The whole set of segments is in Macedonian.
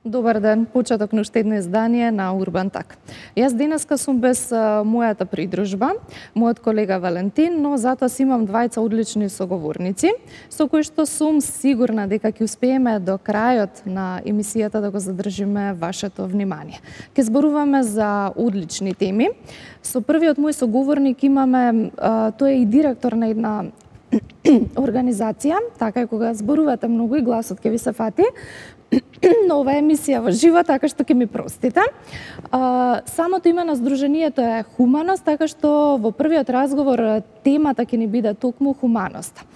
Добар ден, почеток на уште едно издание на Урбан Так. Јас денеска сум без мојата придружба, мојот колега Валентин, но затоа си имам двајца одлични соговорници, со кои што сум сигурна дека ќе успееме до крајот на емисијата да го задржиме вашето внимание. Ке зборуваме за одлични теми. Со првиот мој соговорник имаме, тој е и директор на една организација, така е кога зборувате многу и гласот ќе ви се фати, но ова емисија во живо, така што ќе ми простите. Самото име на здруженијето е Хуманост, така што во првиот разговор темата ќе ни биде токму хуманоста.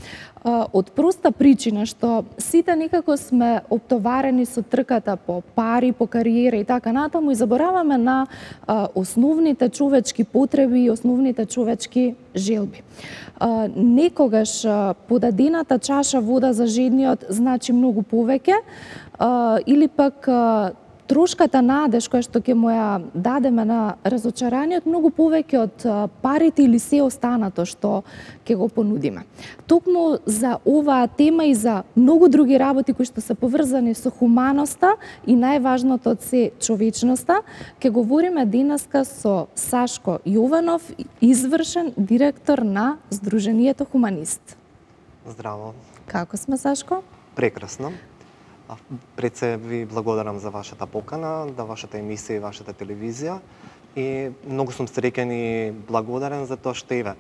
Од проста причина што сите некако сме оптоварени со трката по пари, по кариера и така натаму и забораваме на основните човечки потреби и основните човечки желби. Некогаш подадената чаша вода за жедниот значи многу повеќе, или пак трошката надеж која што ќе му ја дадеме на разочараниот многу повеќе од парите или се останато што ќе го понудиме. Токму за оваа тема и за многу други работи кои што се поврзани со хуманоста и најважното од се човечноста, ќе говориме денеска со Сашко Јованов, извршен директор на Здруженијето Хуманист. Здраво. Како сме, Сашко? Прекрасно. Пред се ви благодарам за вашата покана, за вашата емисија и вашата телевизија и многу сум среќен и благодарен за тоа што еве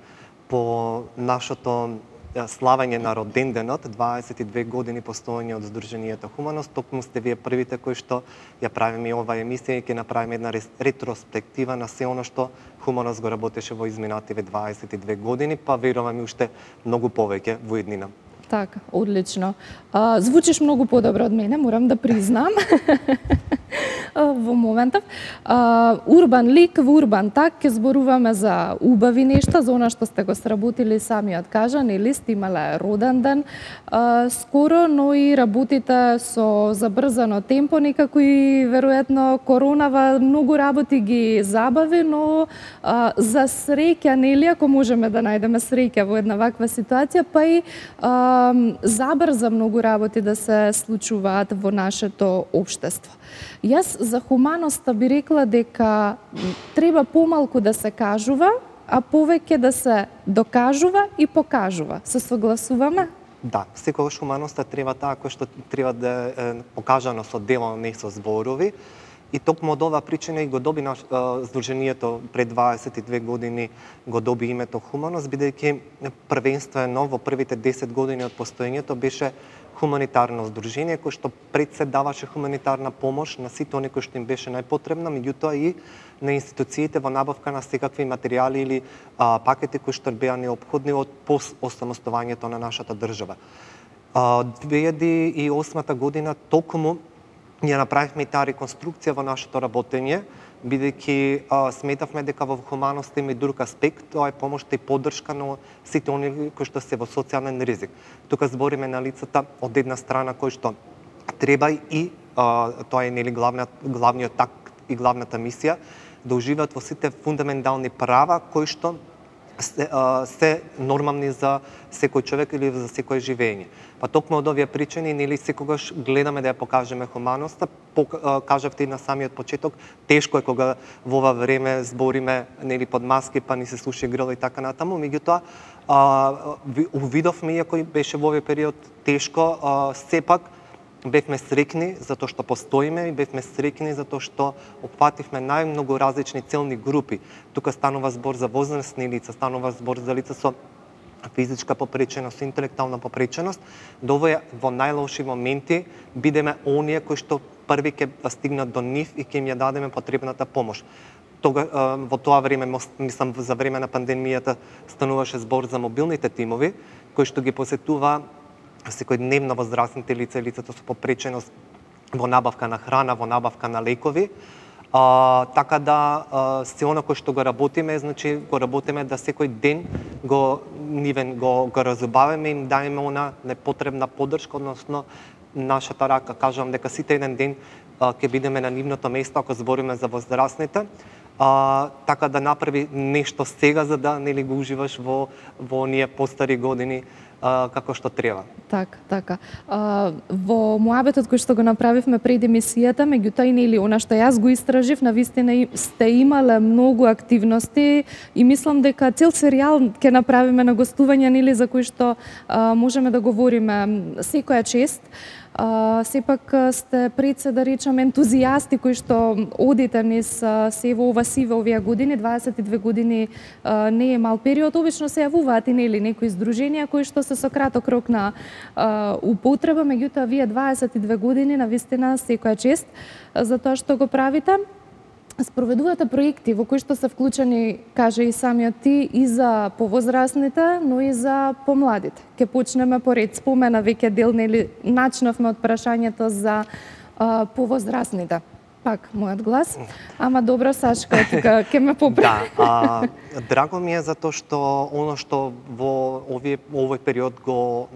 по нашето славење на роденденот, 22 години постоење од Здруженијето Хуманост, токму сте вие првите кои што ја правиме оваа емисија и ќе направиме една ретроспектива на се оно што Хуманост го работеше во изминативе 22 години, па верувам и уште многу повеќе во иднина. Така, одлично. Звучиш многу подобро од мене, морам да признам. Во моментов. Урбан лик, во Урбан Так, ќе зборуваме за убави нешта, за она што сте го сработили самиот кажа, нели сте имале роден ден скоро, но и работите со забрзано темпо, некако и веројатно коронава многу работи ги забави, но за среќа, нели, ако можеме да најдеме среќа во една ваква ситуација, па и забрза многу работи да се случуваат во нашето општество. Јас за хуманоста би рекла дека треба помалку да се кажува, а повеќе да се докажува и покажува. Се согласуваме? Да, секогаш хуманоста треба таа која што треба да е покажано со дело, не со зборови. И токму од оваа причина и го доби Здруженијето пред 22 години го доби името Хуманост, бидејќи првенствено во првите 10 години од постоењето беше хуманитарно здружение кој што пред се даваше хуманитарна помош на сите оние кои што им беше најпотребна, меѓутоа и на институциите во набавка на секакви материјали или пакети кои што беа неопходни од осамостувањето на нашата држава. 2008 година токму ние направивме и таа реконструкција во нашето работење, бидејќи сметавме дека во хуманоста има и друг аспект, тоа е помошта и поддршка на сите оние кои што се во социјален ризик. Тука збориме на лицата од една страна кои што треба и тоа е нели главниот такт и главната мисија да уживаат во сите фундаментални права кои што се нормални за секој човек или за секој живење. Па токму од овие причини, нели секогаш гледаме да ја покажеме хуманоста. Кажавте и на самиот почеток, тешко е кога во ова време збориме нели под маски, па ни се слуша грл и така натаму, меѓутоа увидовме, иако беше во овој период тешко, сепак бевме среќни затоа што постоиме и бевме среќни затоа што опфативме најмногу различни целни групи. Тука станува збор за возрастни лица, станува збор за лица со физичка попреченост, интелектуална попреченост, да во најлоши моменти бидеме оние кои што први ќе стигнат до нив и ќе им ја дадеме потребната помош. Во тоа време, мислам за време на пандемијата, стануваше збор за мобилните тимови, кои што ги посетува секојдневно возрастните лица и лицата со попреченост во набавка на храна, во набавка на лекови. Така да се оно кој што го работиме, значи го работиме да секој ден го разубавиме и им даеме она непотребна поддршка, односно нашата рака. Кажувам дека сите еден ден ќе бидеме на нивното место ако збориме за возрастните. Така да направи нешто сега за да нели го уживаш во оние постари години како што треба. Така. Во муабетот кој што го направивме пред емисијата, меѓутоа и нели она што јас го истражив, навистина сте имале многу активности и мислам дека цел серијал ќе направиме на гостување, нели, за кој што можеме да говориме секоја чест. Сепак сте пред се, да речам, ентузијасти кои што одите низ се во ова сиве овие години, 22 години не е мал период, обично се јавуваат и нели некои здруженија кои што се со краток рок на употреба, меѓутоа вие 22 години навистина секоја чест за тоа што го правите. Спроведувате проекти во кои што се вклучени, каже и самиот ти, и за повозрастните, но и за помладите. Ке почнеме поред. Спомена веќе дел, нели, начнавме од прашањето за повозрастните. Пак, мојот глас. Ама добро, Сашка, тука ке ме поправи. Да, драго ми е затоа што оно што во овој период го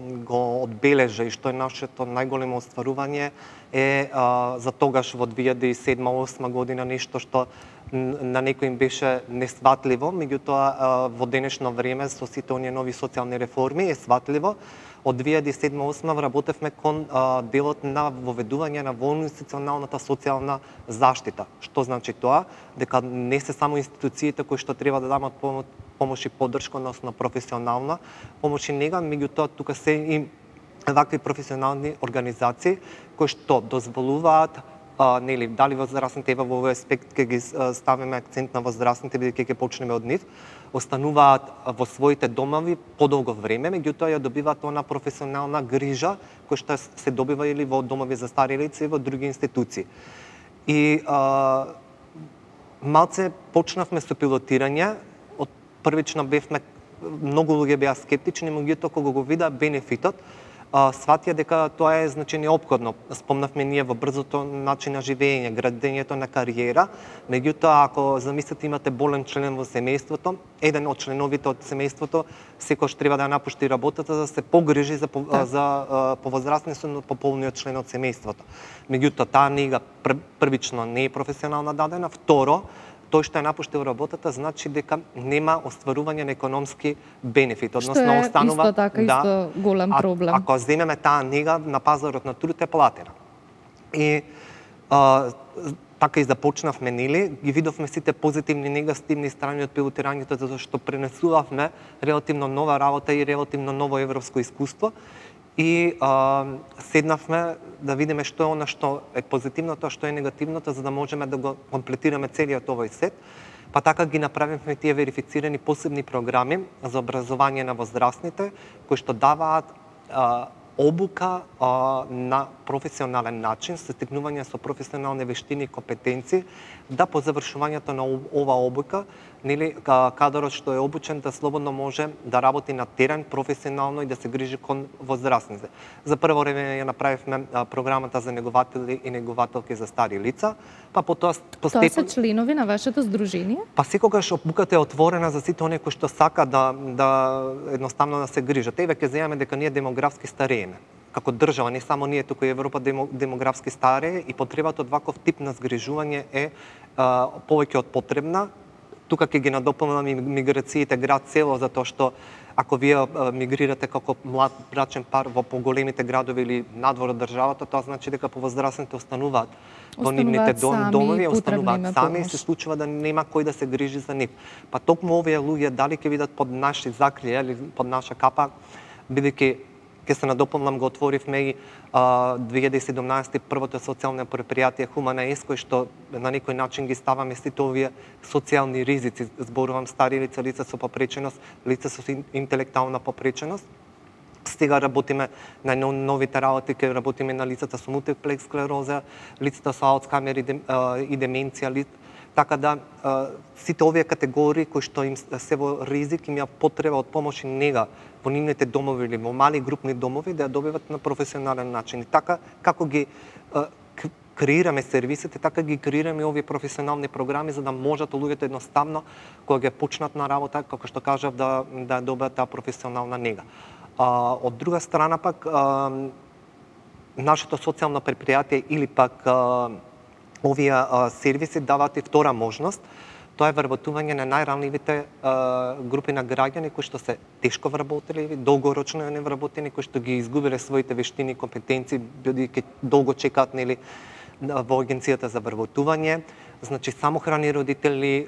одбележа и што е нашето најголемо остварување е за тогаш во 2007-2008 година нешто што на некој им беше несватливо, меѓутоа во денешно време со сите оние нови социјални реформи е сватливо. Од 2007-2008 работевме кон делот на воведување на воинституционалната социјална заштита. Што значи тоа? Дека не се само институциите кои што треба да дамат помош и поддршка, односно професионална помош и нега, меѓутоа тука се и вакви професионални организации кои што дозволуваат нели, дали возрастните, во овој аспект ќе ги ставиме акцент на возрастните, бидејќи ќе почнеме од нив, остануваат во своите домови подолго време, меѓутоа ја добиваат она професионална грижа која што се добива или во домови за стари лица и во други институции. И малце почнавме со пилотирање, од првично бевме, многу луѓе беа скептични, меѓутоа кога го видаа бенефитот, сватија дека тоа е значи неопходно. Спомнавме ние во брзото начин на живење, градењето на кариера, меѓутоа ако замислите имате болен член во семејството, еден од членовите од семејството секогаш треба да напушти работата за да се погрижи за повозрастниот пополниот член од семејството. Меѓутоа таа нега првично не е професионално дадена, второ тој што е напуштил работата значи дека нема остварување на економски бенефит, односно останува исто така исто голем проблем. Ако земеме таа нега на пазарот на труд е платена. И така и започнавме, нели, ги видовме сите позитивни и негативни страни од пилотирањето затоа што пренесувавме релативно нова работа и релативно ново европско искуство. И седнавме да видиме што е она што е позитивното, што е негативното, за да можеме да го комплетираме целиот овој сет. Па така ги направивме тие верифицирани посебни програми за образование на возрастните, кои што даваат обука на професионален начин, со стекнување со професионални вештини и компетенции, да по завршувањето на ова обука, нели, кадрот што е обучен да слободно може да работи на терен професионално и да се грижи кон возрастните. За прво време ја направивме програмата за негователи и негователки за стари лица, па потоа Тоа се членови на вашето здружение? Па секогаш обуката е отворена за сите оние кои што сака да едноставно да се грижат. Еве ќе земеме дека ние демографски старееме. Како држава, не само ние, туку и Европа демографски старее и потребата од ваков тип на згрижување е повеќе од потребна. Тука ќе ги надополнам и миграциите град-село, затоа што ако вие мигрирате како млад брачен пар во поголемите градови или надвор од државата, тоа значи дека повозрастните остануваат во нивните домови, остануваат сами и се случува да нема кој да се грижи за нив. Па токму овие луѓе дали ќе бидат под наши закрија или под наша капа, бидејќи ќе се надополнам, го отворивме и 2017 првото социјално предпријатие Хумана Ес, кој што на некој начин ги ставаме сите овие социјални ризици, зборувам стари лица, лица со попреченост, лица со интелектуална попреченост. Сега работиме на новите работи, ќе работиме на лицата со мултиплекс склероза, лицата со Алцхаймер и деменција, така да сите овие категории кои што им се во ризик имаат потреба од помош и нега во нивните домови или во мали групни домови да ја добиват на професионален начин. И така како ги креираме сервисите, така ги креираме овие професионални програми за да можат луѓето едноставно кога ќе почнат на работа, како што кажав, да добиат таа професионална нега. Од друга страна пак нашето социјално предпријатие или пак овие сервиси даваат и втора можност, тоа е вработување на најранливите групи на граѓани кои што се тешко вработени, долгорочно невработени, кои што ги изгубиле своите вештини и компетенции, бидејќи долго чекаат во агенцијата за вработување. Значи самохрани родители,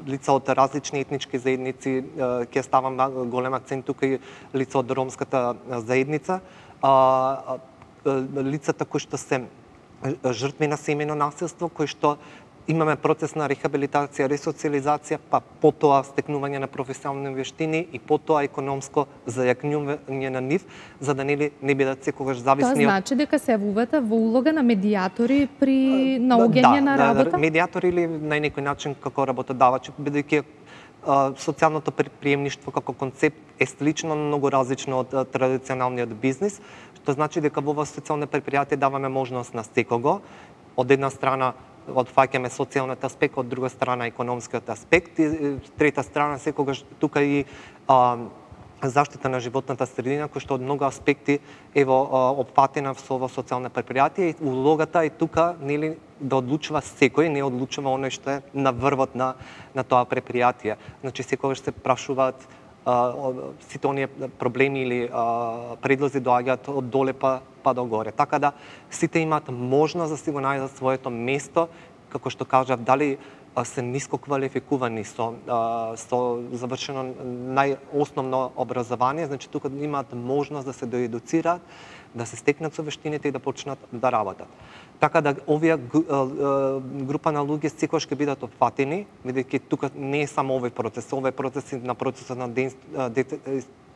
лица од различни етнички заедници, ќе ставам голем акцент тука и лица од ромската заедница, лицата кои што се жртви на семејно насилство, кои што имаме процес на рехабилитација, ресоциализација, па потоа стекнување на професионални вештини и потоа економско зајакнување на нив, за да не бидат секогаш зависни. Тоа значи дека се јавувате во улога на медијатори при наоѓање на работа? Да, медијатори или на некој начин како работодавачи, бидејќи социјалното приемништво како концепт е слично, многу различно од традиционалниот бизнис, што значи дека во социјални предпријатија даваме можност на секого, од една страна отфаќаме социјалниот аспект, од друга страна економскиот аспект и трета страна секогаш тука и заштита на животната средина, кој што од многу аспекти е опфатена во социјална предпријатија и улогата е тука нели да одлучува секој, не одлучува оној што е на врвот на тоа предпријатие. Значи секогаш се прашуваат сите оние проблеми или предлози доаѓаат од доле па до горе. Така да сите имаат можност да си го најдат своето место, како што кажав, дали се ниско квалификувани со завршено најосновно образование, значи тука имаат можност да се доедуцираат, да се стекнат со вештините и да почнат да работат. Така да овие група на луѓе секогаш ќе бидат опфатени, бидејќи тука не е само овој процес на процесот на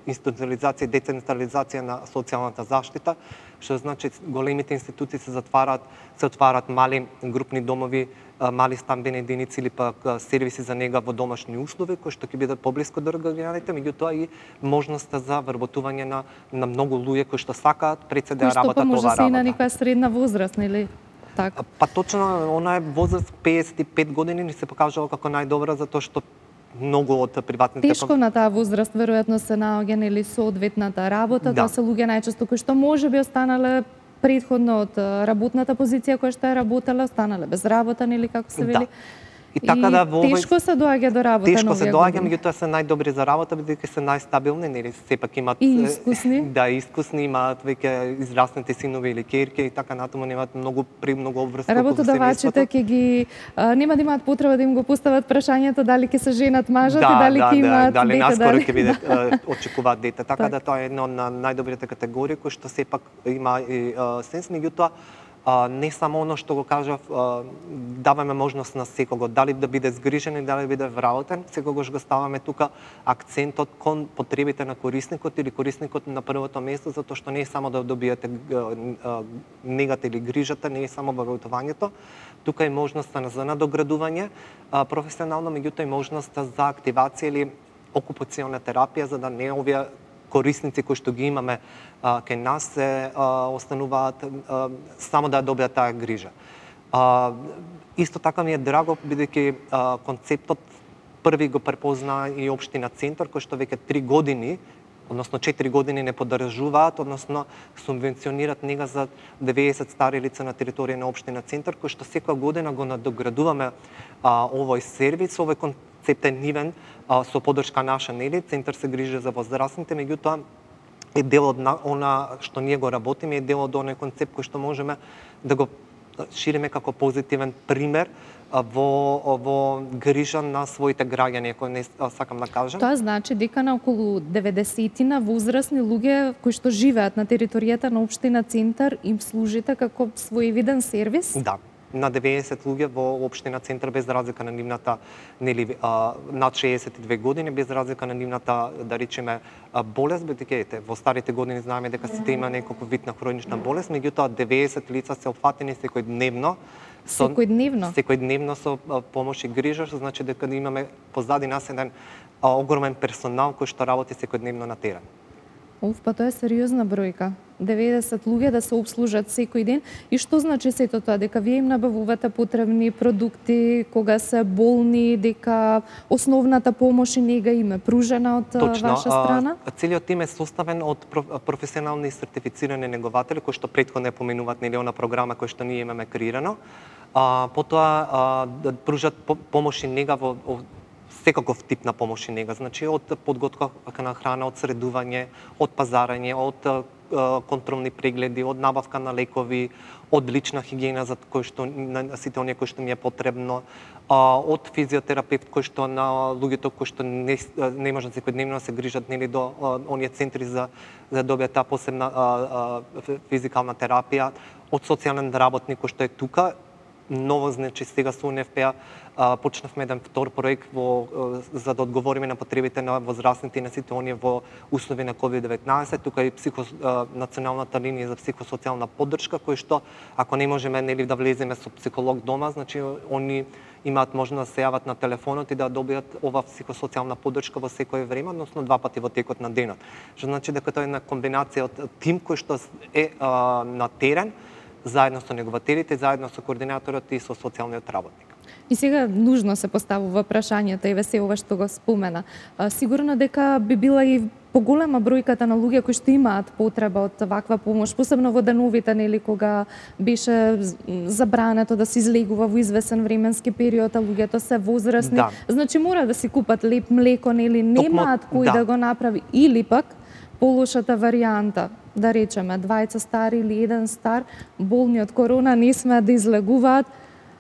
институционализација и децентрализација на социјалната заштита, што значи големите институции се отварат мали групни домови, мали стамбени единици или пак сервиси за нега во домашни услови, кои што ќе бидат поблиску до граѓаните, меѓутоа и можноста за вработување на многу луѓе кои што сакаат пред се да работат оваа работа. Кои што може се и на некоја средна возраст, нели? Така. Па точно, она е возраст 55 години ни се покажала како најдобра, затоа што многу од приватните... Тешко на таа возраст, веројатно се наоѓа нели соодветната работа, тоа се луѓе најчесто кои што можеби останале предходно од работната позиција која што е работела, останале без работа, нели како се вели. И така да тешко се доаѓа до работа. Тешко се доаѓа, меѓутоа се најдобри за работа, бидејќи се најстабилни, нели сепак имаат и искусни. Да, искусни, имаат веќе израснати синови или ќерки и така натаму, немаат многу обврска. Работодавачите ќе ги нема да имаат потреба да им го постават прашањето дали ќе се женат мажот и дали ќе имаат дете, дали наскоро ќе биде очекуваат дете. Така да тоа е една од најдобрите категории кои што сепак има и сенс, меѓутоа не само оно што го кажав, даваме можност на секого, дали да биде згрижен и дали да биде вработен, секогаш го ставаме тука акцентот кон потребите на корисникот или корисникот на првото место, затоа што не е само да добиете негата или грижата, не е само вработувањето, тука е можноста за надоградување професионално, меѓутоа и можноста за активација или окупационна терапија, за да не овие корисници кои што ги имаме кај нас се остануваат само да добиат таа грижа. Исто така ми е драго, бидејќи концептот први го препозна и општина Центар, кој што веќе 3 години, односно 4 години не поддржуваат, односно субвенционираат нега за 90 стари лица на територија на општина Центар, кој што секоја година го надоградуваме овој сервис, овој концепт е нивен со поддршка наша, нели, Центар се грижи за возрастните, меѓутоа е дел од она што ние го работиме, е дел од оној концепт кој што можеме да го шириме како позитивен пример во грижа на своите граѓани, ако не сакам да кажам. Тоа значи дека на околу 90 возрастни луѓе кои што живеат на територијата на општина Центар им служите како своевиден сервис? Да. На 90 луѓе во општина Центар, без разлика на нивната нели над 62 години, без разлика на нивната, да речеме, болест, бидејќи во старите години знаеме дека сите има некој вид на хронична болест, меѓутоа 90 лица се опфатени секојдневно. Секојдневно со помош и грижа, што значи дека имаме позади нас еден огромен персонал кој што работи секојдневно на терен. Па тоа е сериозна бројка. 90 луѓе да се обслужат секој ден. И што значи сето тоа? Дека вие им набавувате потребни продукти кога се болни, дека основната помош и нега им е пружена од ваша страна? Целиот тим е составен од професионални сертифицирани негователи, кои што претходно поминуваат нели она програма која што ние имаме креирано. Потоа да пружат помош и нега во секаков тип на помош и нега, значи од подготовка на храна, од средување, од пазарање, од контролни прегледи, од набавка на лекови, од лична хигиена за кој што на сите оние кои што ми е потребно, од физиотерапевт кој што на луѓето кои што не можат секојдневно да се грижат нели до оние центри за да добијат таа посебна физикална терапија, од социјален работник кој што е тука. Ново, значи сега со УНФПА почнавме еден втор проект за да одговориме на потребите на возрастните и на сите оние во услови на COVID-19, тука и националната линија за психосоцијална поддршка, кој што ако не можеме нели да влеземе со психолог дома, значи они имаат можност да се јават на телефонот и да добијат ова психосоцијална поддршка во секое време, односно 2 пати во текот на денот. Што значи дека тоа е една комбинација од тим кој што е на терен, заедно со негователите, заедно со координаторот и со социјалниот работник. И сега нужно се поставува прашањето и ве ова што го спомена. Сигурно дека би била и поголема бројката на луѓе кои што имаат потреба од ваква помош, посебно во деновите, нели, кога беше забрането да се излегува во извесен временски период, а луѓето се возрастни. Да. Значи мора да си купат леп млеко, нели, немаат кој да го направи, или пак полошата варијанта, да речеме, двајца стари или еден стар, болни од корона, не смеат да излегуваат,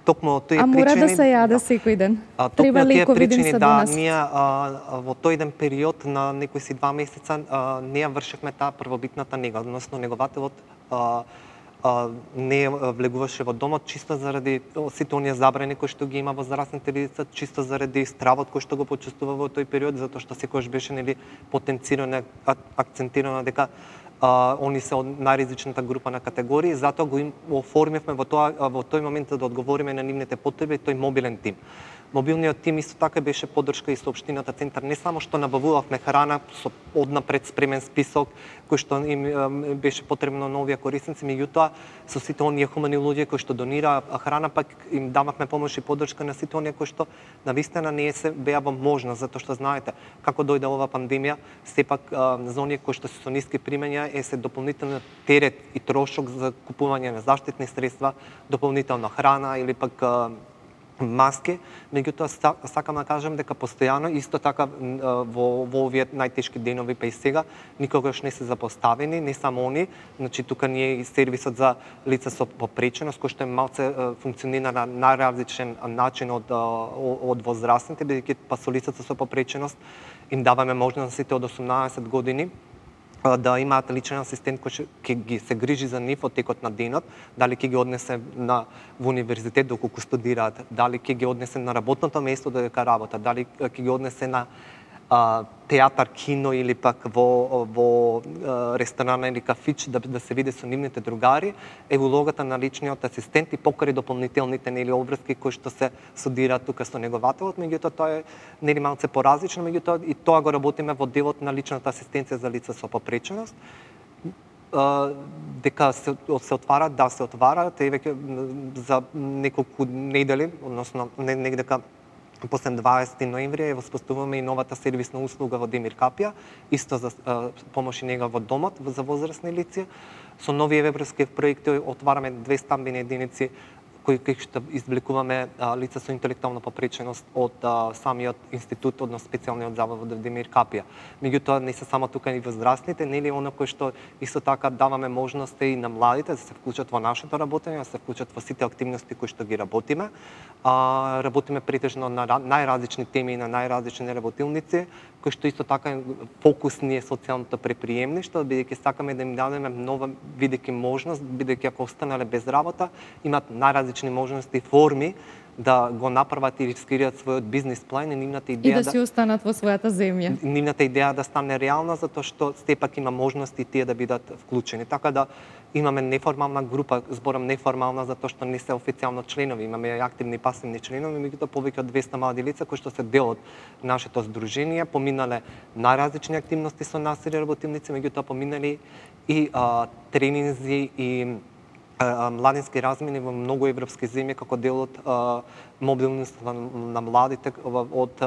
а мора да се јаде секој ден. Треба лекови да им се донесат. Ние во тој еден период на некои си 2 месеца не ја вршевме таа првобитната нега, односно негователот не влегуваше во домот чисто заради сите оние забрани кои што ги има возрастните лица, чисто заради стравот кој што го почувствува во тој период, затоа што секогаш беше нели потенцирано, акцентирано дека они се од најризичната група на категории, затоа го оформивме во тој момент да одговориме на нивните потреби тој мобилен тим. Мобилниот тим исто така беше поддршка и со општината центар, не само што набавувавме храна со однапред спремен список кој што им беше потребно на овие корисници, меѓутоа со сите оние хумани луѓе кои што донираа храна, пак им дававме помош и поддршка на сите оние кои што навистина не се беа во можност, затоа што знаете како дојде ова пандемија, сепак за оние кои што се со ниски примања се дополнителен терет и трошок за купување на заштитни средства, дополнителна храна или пак маски, меѓутоа сакам да кажам дека постојано исто така во овие најтешки денови па и сега никогаш не се запоставени, не само они, значи тука ние и сервисот за лица со попреченост кој што е малце функционира на најразличен начин од возрастните, бидејќи па со лицата со попреченост им даваме можност сите од 18 години да имаат личен асистент кој ќе ги се грижи за нив од текот на денот, дали ќе ги однесе во универзитет доколку студираат, дали ќе ги однесе на работното место додека работат, дали ќе ги однесе на театар, кино или пак во ресторан или кафич да се види со нивните другари, е улогата на личниот асистент и покрај дополнителните нели обврски кои што се судираат тука со негователот, меѓутоа тоа е нели малце поразлично, меѓутоа и тоа го работиме во делот на личната асистенција за лица со попреченост. Дека се отвара, да се отвараат, веќе за неколку недели, односно негдека после 20 ноември ја воспоставуваме и новата сервисна услуга во Демир Капија, исто за помош и нега во домот за возрастни лица. Со нови европски проекти отвараме 2 стамбени единици кои што извлекуваме лица со интелектуална попреченост од самиот институт, односно специјалниот завод во Демир Капија. Меѓутоа не се само тука и возрастните, нели оно кој што исто така даваме можност и на младите да се вклучат во нашето работење, да се вклучат во сите активности кои што ги работиме. Работиме претежно на најразлични теми и на најразлични работилници, кои што исто така фокусни е социјалното предприемништво, бидејќи сакаме да им дадеме нова бидејќи можност, бидејќи ако останале без работа, имаат најразлични можности и форми да го направат и рискираат својот бизнис план и нивната идеја да си останат во својата земја. Нивната идеја да стане реална затоа што сепак има можности тие да бидат вклучени. Така да имаме неформална група, зборам неформална затоа што не се официјално членови, имаме активни и пасивни членови, меѓутоа повеќе од 200 млади лица кои што се дел од нашето здружение, поминале најразлични активности со нас и работилници, меѓутоа поминали и тренинзи и младински размени во многу европски земји како дел од мобилност на младите од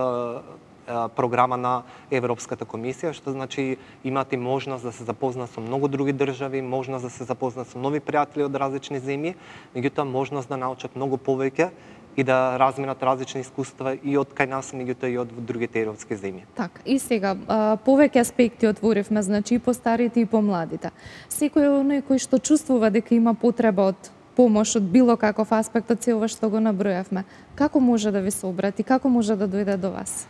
програма на Европската комисија, што значи имате можност да се запознаат со многу други држави, можност да се запознаат со нови пријатели од различни земји, меѓутоа можност да научат многу повеќе и да разменат различни искуства и од кај нас, меѓутоа и од другите европски земји. Така, и сега, повеќе аспекти отворивме, значи и по старите и по младите. Секој оној кој што чувствува дека има потреба од помош од било каков аспект од се ова што го набројавме, како може да ви се обрати, како може да дојде до вас?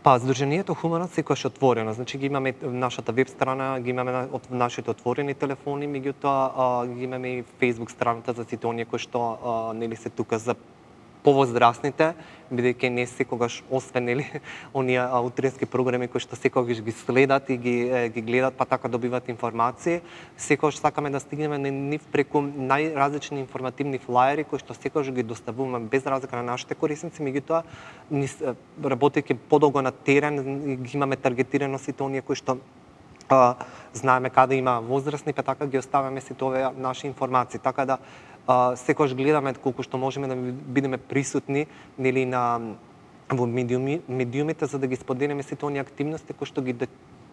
Па, Сдруженијето Хуманот секогаш е отворено, значи ги имаме нашата веб страна, ги имаме од нашите отворени телефони, меѓутоа ги имаме и Facebook страната за сите оние кои што нели се тука за повозрастните, бидејќи не секогаш освен нели оние утрински програми кои што секогаш ги следат и ги гледат, па така добиваат информации, секогаш сакаме да стигнеме на нив преку најразлични информативни флаери кои што секогаш ги доставуваме без разлика на нашите корисници, меѓутоа работејќи подолго на терен ги имаме таргетирано сите оние кои што знаеме каде има возрастни, па така ги оставаме сите овие наши информации, така да секогаш гледаме колку што можеме да бидеме присутни нели во медиумите за да ги споделиме сите оние активности кои што ги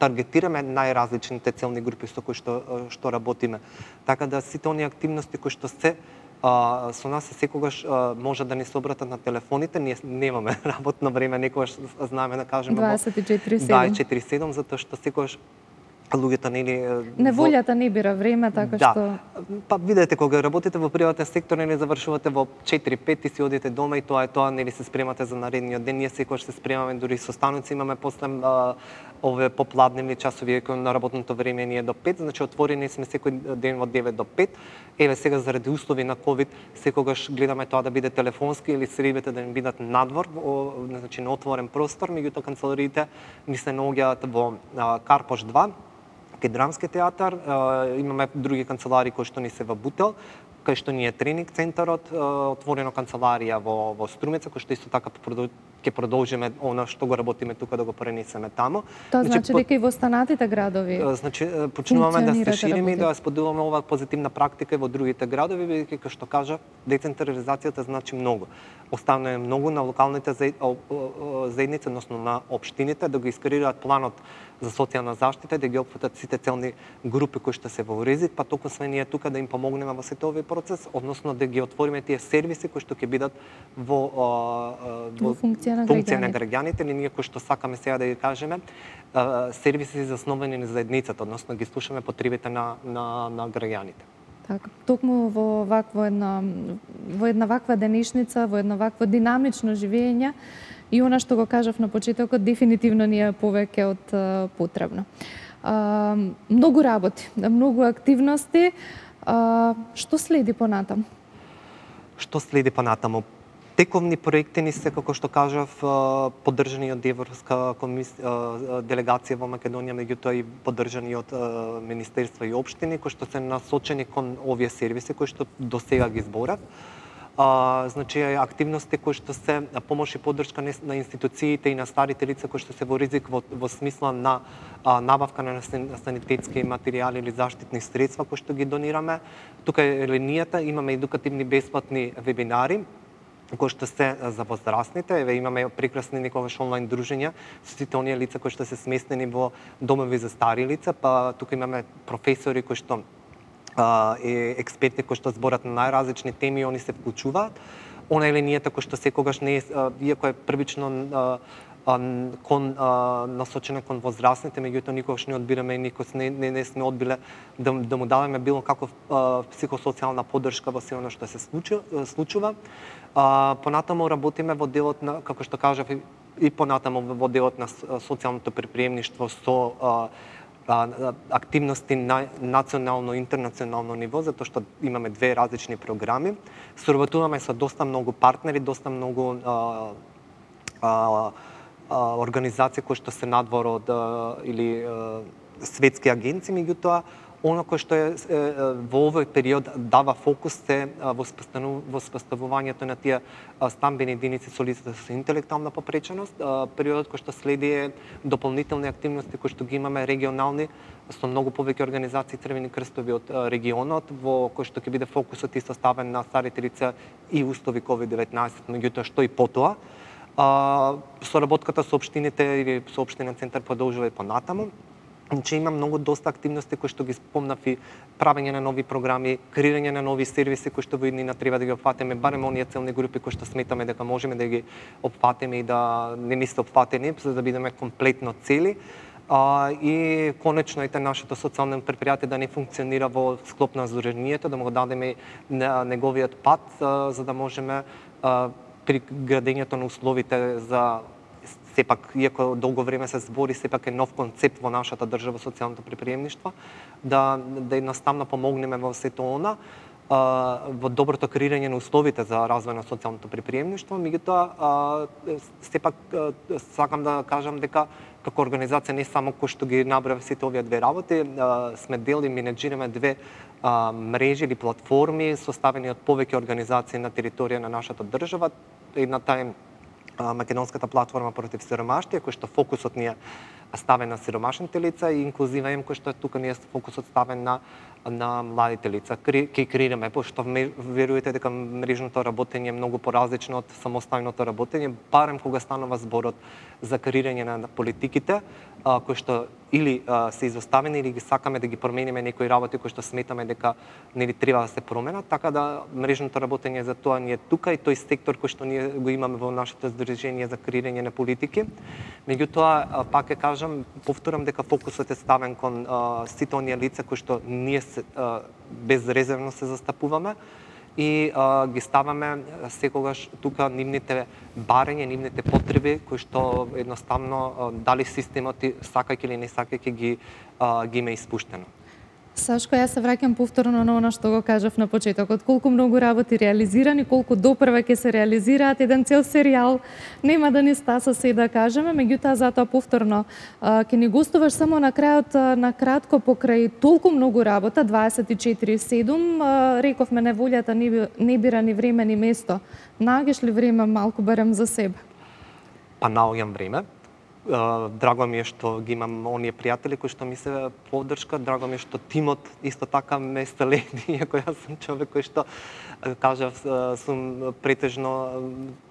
таргетираме најразличните целни групи со кои што работиме. Така да сите оние активности кои што се со нас секогаш може да ни се обратат на телефоните, ние немаме работно време, некогаш знаеме да кажеме 24/7, затоа што секогаш луѓето нели неволјата не бира време, така што па видете кога работите во приватен сектор нели завршувате во 4-5 и си одите дома и тоа е тоа, нели се спремате за наредниот ден, ние секогаш се спремаме, дури со станоци имаме после овие попладневни часови кои на работното време ние до 5, значи отворени сме секој ден од 9 до 5. Еве сега заради услови на ковид секогаш гледаме тоа да биде телефонски или средбите да не бидат надвор, значи на отворен простор, меѓутоа канцелариите ни се наоѓаат во Карпош 2, кај Драмски театар, имаме други канцелари кои што ни се во Бутел, кај што ни е тренинг центарот, отворено канцеларија во Струмица, кој што исто така ќе продолжиме она што го работиме тука да го пренесеме таму. Тоа значи дека и во останатите градови. Значи почнуваме да се шириме и да споделуваме оваа позитивна практика во другите градови, бидејќи како што кажа, децентрализацијата значи многу. Оставаме многу на локалните заедници, односно на општините да го искреираат планот за социјална заштита и да ги опфатат сите целни групи кои што се во ризик, па токму сме ние тука да им помогнеме во сите овој процес, односно да ги отвориме тие сервиси кои што ќе бидат во функција на граѓаните, или ние кои што сакаме сега да ги кажеме, сервиси засновани на заедницата, односно ги слушаме потребите на граѓаните. Така, токму во една ваква денешница, во едно вакво динамично живење, и она што го кажав на почетокот, дефинитивно ни е повеќе од потребно. Многу работи, многу активности. Што следи понатаму? Што следи понатаму? Тековни проекти ни се, како што кажав, поддржани од Европска делегација во Македонија, меѓутоа и поддржани од министерства и општини, кои што се насочени кон овие сервиси кои што до сега ги зборав. Значи активности кои што се помош и поддршка на институциите и на старите лица кои што се во ризик во смисла на набавка на санитетски материјали или заштитни средства кои што ги донираме. Тука е линијата, имаме едукативни бесплатни вебинари кои што се за возрастните. Еве имаме прекрасни некогаш онлайн дружења со сите оние лица кои што се сместени во домови за стари лица, па тука имаме професори кои што експерти кои што зборат на најразлични теми, они се вклучуваат. Она е линијата кој што секогаш не е, иако е првично насочена кон возрастните, меѓутоа никогаш не одбираме и никогаш не сме одбиле да му даваме било каков психосоцијална поддршка во се она што се случува. Понатаму работиме во делот на, како што кажав, и понатаму во делот на социјалното припремништво со активности на национално и интернационално ниво, затоа што имаме две различни програми. Соработуваме со доста многу партнери, доста многу организации кои што се надвор од или светски агенции, меѓутоа оно кој што во овој период дава фокус е воспоставувањето на тие стамбени единици со лицата со интелектуална попреченост. Периодот кој што следи е дополнителни активности кои што ги имаме регионални со многу повеќе организации Црвени крстови од регионот, во кој што ќе биде фокусот и составен на старите лица и услови COVID-19, меѓутоа што и потоа. Соработката со општините или со општинен центар продолжува и понатаму. Значи има многу доста активности кои што ги спомнав и правење на нови програми, креирање на нови сервиси кои што во иднина треба да ги опфатиме, барем оние целни групи кои што сметаме дека можеме да ги опфатиме и да не ни се опфатени, за да бидеме комплетно цели. И конечно ете нашето социјално предпријатие да не функционира во склоп на здруженијето, да му го дадеме неговиот пат, за да можеме при градењето на условите за сепак, иако долго време се збори, сепак е нов концепт во нашата држава социјалното приприемништво, да едноставно помогнеме во сето она, во доброто креирање на условите за развој на социјалното приприемништво, меѓутоа сепак сакам да кажам дека како организација не само кој што ги набрав сите овие две работи, сме дел и менеджираме две мрежи или платформи составени од повеќе организации на територија на нашата држава. Едната е Македонската платформа против сиромаштија, кој што фокусот ни е ставен на сиромашните лица, и Инклузива М, кој што тука ни е фокусот ставен на младите лица. Ке креираме, пошто верувате дека мрежното работење е многу поразлично од самостојното работење, барем кога станува зборот за креирање на политиките, кои што или се изоставени или ги сакаме да ги промениме некои работи кои што сметаме дека нели треба да се променат, така да мрежното работење за тоа ни е тука и тој сектор кој што ние го имаме во нашето здружение за креирање на политики. Меѓутоа, пак ќе кажам, повторам дека фокусот е ставен кон сите оние лица кои што ние безрезервно се застапуваме и ги ставаме секогаш тука нивните барања, нивните потреби кои што едноставно дали системот сакајќи или не сакајќи ги има испуштено. Сашко, јас се враќам повторно на она што го кажав на почетокот. Колку многу работи реализирани, колку допрва ќе се реализираат, еден цел серијал нема да ни стаса се да кажеме, меѓутоа затоа повторно ќе ни гостуваш само на крајот, на кратко покрај толку многу работа, 24/7, рековме неволјата не бира ни време ни место. Наоѓаш ли време малку барем за себе? Па наоѓам време. Драго ми е што ги имам оние пријатели кои што ми се поддршка, драго ми е што тимот исто така ме следи, иако јас сум човек кој што кажав сум претежно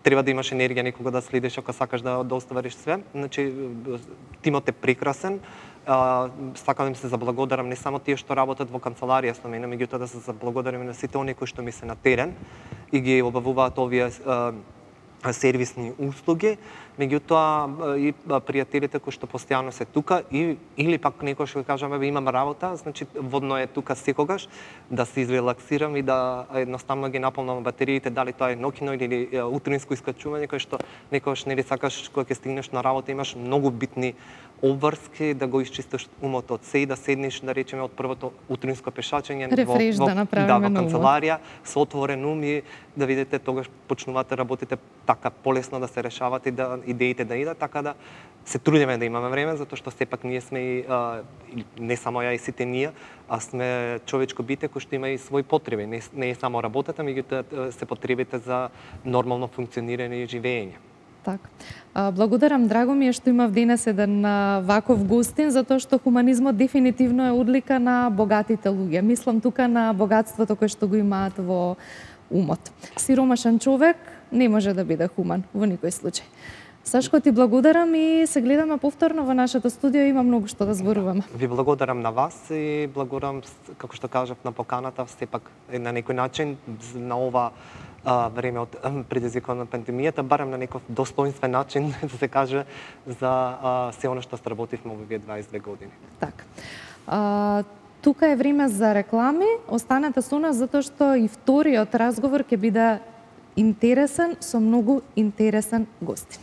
треба да имаш енергија некога да следиш ако сакаш да оствариш све. Значи тимот е прекрасен. Сакам да им се заблагодарам не само тие што работат во канцеларија со мене, меѓутоа да се заблагодарам на сите оние кои што ми се на терен и ги обавуваат овие сервисни услуги, меѓутоа и пријателите кои што постојано се тука или пак некој што кажаме имам работа, значи водно е тука секогаш да се изрелаксирам и да едноставно ги наполнам батериите, дали тоа е ноќно или утринско искачување, кој што некогаш нели сакаш кога ќе стигнеш на работа имаш многу битни обврски да го исчистиш умот од се и да седнеш да речеме од првото утринско пешачење во канцеларија со отворен ум и да видите тогаш почнуваат работите така полесно да се решават и да идеите да идат, така да се трудиме да имаме време, затоа што сепак ние сме и не само ја и сите ние, а сме човечко бите кој што има и своји потреби, не е само работата, меѓутоа се потребите за нормално функционирање и живење. Така. Благодарам, драго ми е што имав денес еден ваков гостин, затоа што хуманизмот дефинитивно е одлика на богатите луѓе. Мислам тука на богатството кое што го имаат во умот. Сиромашен човек не може да биде хуман во никој случај. Сашко, ти благодарам и се гледаме повторно во нашето студио, има многу што да зборуваме. Ви благодарам на вас и благодарам, како што кажав, на поканата, сепак на некој начин на ова време од предизвикано пандемијата, барем на некој достоинствен начин, да се каже, за се оно што сработивме овие 22 години. Така. Тука е време за реклами, останете со нас затоа што и вториот разговор ќе биде интересен со многу интересен гостин.